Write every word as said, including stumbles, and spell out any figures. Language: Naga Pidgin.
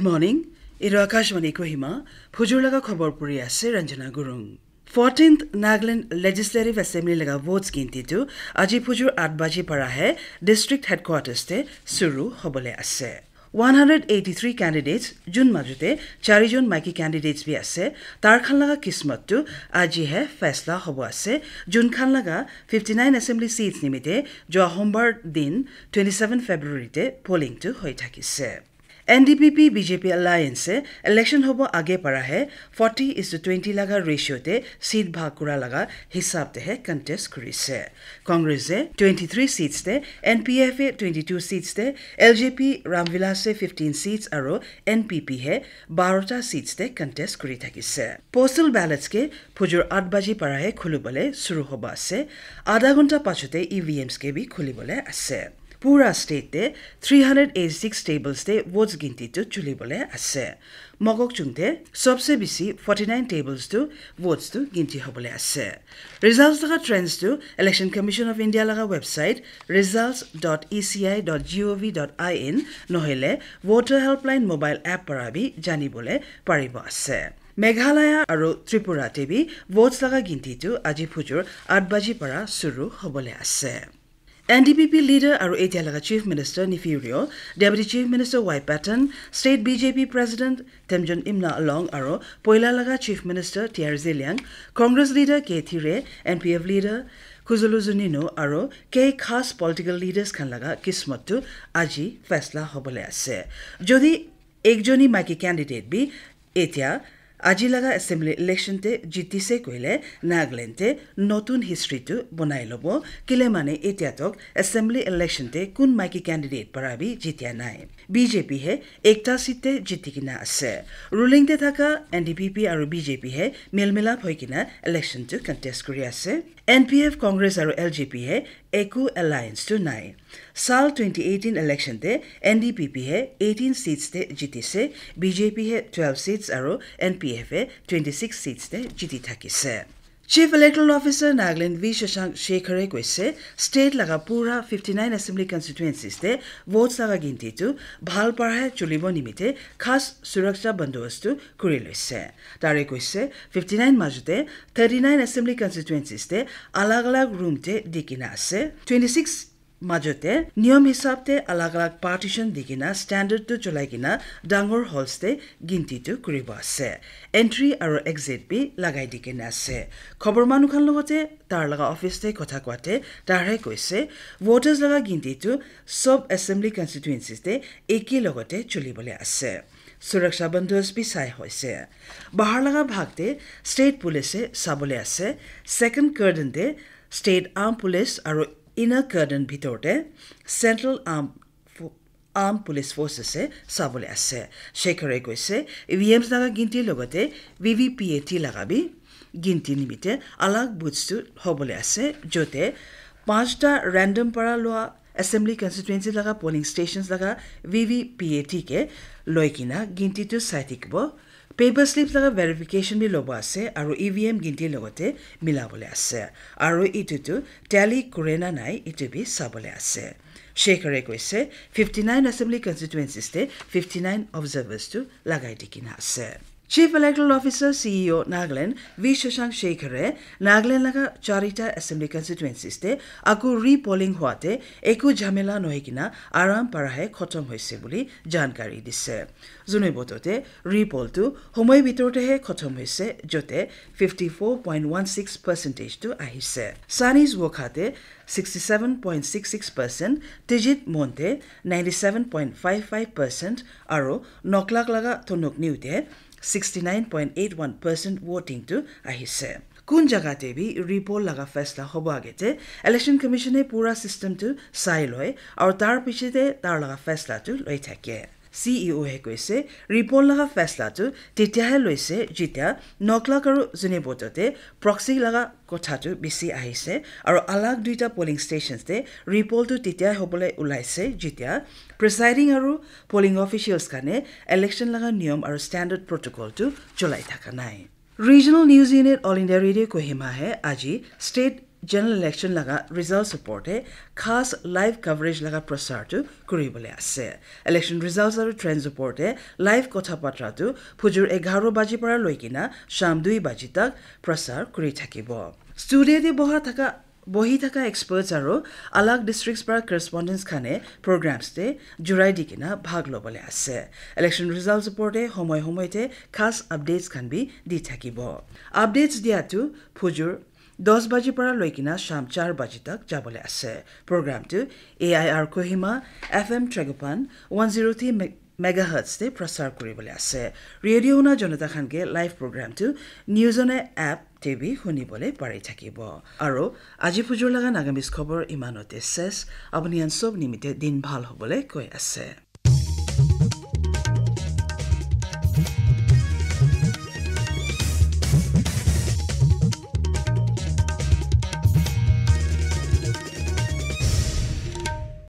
Good morning. Etu Akashvani Kohima, phujur laga khobor puri ase Ranjana Gurung. Fourteenth Nagaland Legislative Assembly laga votes ginti tu aji phujur eight baji para he district headquarters te suru hobole ase. One hundred eighty-three candidates, jun majute chari jon maiki candidates bi ase, tar khan laga kismat tu aji he faisla hobo ase, jun khan laga fifty-nine assembly seats nimite jua hombar din twenty-seven February te polling tu hoi thakise. N D P P B J P alliance e election hobo age para he forty is to twenty laga ratio te seat bhag kura laga hisab te he contest kurise. Congress e twenty-three seats te, N P F e twenty-two seats te, L J P Ramvilas e fifteen seats aru N P P he barota seats te contest kuri thakise. Postal ballots ke phujur eight baji para he khulibole suru hoba ase. Adha ghonta pachote E V Ms ke bi khulibole ase. Pura state te three hundred eighty-six tables te votes ginti tu chulibole ase. Mokokchung te sobse bisi forty-nine tables tu votes tu ginti hobole ase. Results laga trends tu Election Commission of India laga website results dot E C I dot gov dot in nohile Voter Helpline mobile app para bi janibole paribo ase. Meghalaya aru Tripura te bi votes laga ginti tu aji phujur eight baji para suru hobole ase. N D P P leader aru etia laga Chief Minister Neiphiu Rio, Deputy Chief Minister Y Patton, State B J P President Temjen Imna Along aru poila laga Chief Minister T R Zeliang, Congress leader K Thire, N P F leader Khuzwalu Zunino aru kei khas political leaders khan laga kismat tu aji faisla hobole ase. Jodi ekjoni maiki candidate bi etia aji laga assembly election te jitise koile Nagaland te notun history tu bonai lobo, kile mane etia tok assembly election te kun maiki candidate para bi jitia nai. B J P he ekta seat te jiti kena ase. Ruling te thaka N D P P aru B J P he milmilap hoi kena election tu contest kuri ase. N P F, Congress aru L J P he eku alliance tu nai. Sal twenty eighteen election te N D P P he eighteen seats te jitise, B J P he twelve seats aru N P F he twenty-six seats te jiti thakise. Chief Electoral Officer Nagaland V Shashank Shekhar e koise, state laga pura fifty-nine assembly constituencies te votes laga ginti tu bhal para he chulibo nimite khas suraksha bandobast tu kuri loise. Tare koise, fifty-nine majute thirty-nine assembly constituencies te alag alag room te dikina ase. Twenty-six majute niyom hisab te alag alag partition dikina standard tu cholai kena dangor halls te ginti tu kuribo ase. Entry aru exit bi lagai dikina ase. Khobor manu khan logote tar laga office te kotha koate tar he koise, voters laga ginti tu sob assembly constituencies te eki logote chulibole ase. Suraksha bandobast bi sai hoise. Bahar laga bhag te state police e sabole ase. Second curtain te state armed police aru inner curtain bhitor te central armed fo-, armed police forces e sabole ase. Shekhar e koise, E V Ms laga ginti logote V V P A T laga bi ginti nimite alag booths tu hobole ase, jote pachta random para lua assembly constituency laga polling stations laga V V P A T ke loi kena ginti tu sai thakibo. Paper slips laga verification bi lobo ase aru E V M ginti logote milabole ase. Aru itu tu tally kure na nai itu bi sabole ase. Shekhar e koise, fifty-nine assembly constituencies te fifty-nine observers tu lagai dikina ase. Chief Electoral Officer, C E O Nagaland V Shashank Shekhar e Nagaland laga charita assembly constituencies te aku repolling huate eku jhamela nohoi kena aram para he khotom hoise buli jankari dise. Zune boto te repoll tu homoi bitor te he khotom hoise, jote fifty-four point one six percentage tu ahise. Sanis Wokha te sixty-seven point six six percent, Tijit Mon te ninety-seven point five five percent, aru Noklak laga Tonok New te sixty-nine point eight one percent voting tu ahise. Kun jaga te bi repoll laga faisla hobo age te Election Commission e pura system tu sai loi, aru tar piche te tar laga faisla tu loi thake. C E O he koise, repoll laga faisla tu tetia he loise, jetia Noklak aru Zunheboto te proxy laga kotha tu bisi ahise, aru alag duita polling stations te repoll tu tetia hobole ulaise, jetia presiding aru polling officials kane election laga niyom aru standard protocol tu cholai thaka nai. Regional News Unit All India Radio Kohima he aji state General election laga results opor te khas live coverage laga prasar tu kuribole ase. Election results aru trends opor te live kotha batra tu phujur egharo baji para loi kena sham dui baji tak prasar kuri thakibo. Studio te boha thaka bohi thaka experts aru alag districts para correspondents khane programs te jurai di kena bhag lobole ase. Election results opor te homoy homoy te khas updates khan bi di thakibo. Updates dia tu phujur dos baji para loi kena sham char baji tak jabole ase. Program tu A I R Kohima, F M Tragopan, one zero three me- megahertz te prasar kuribole ase. Radio huna jonata khan ke live program tu Newzone app te bi hunibole pari thakibo. Aro aji phujur laga Nagamese khobor imanote ses. Apuni an sob nimite din bhal hobole koi ase.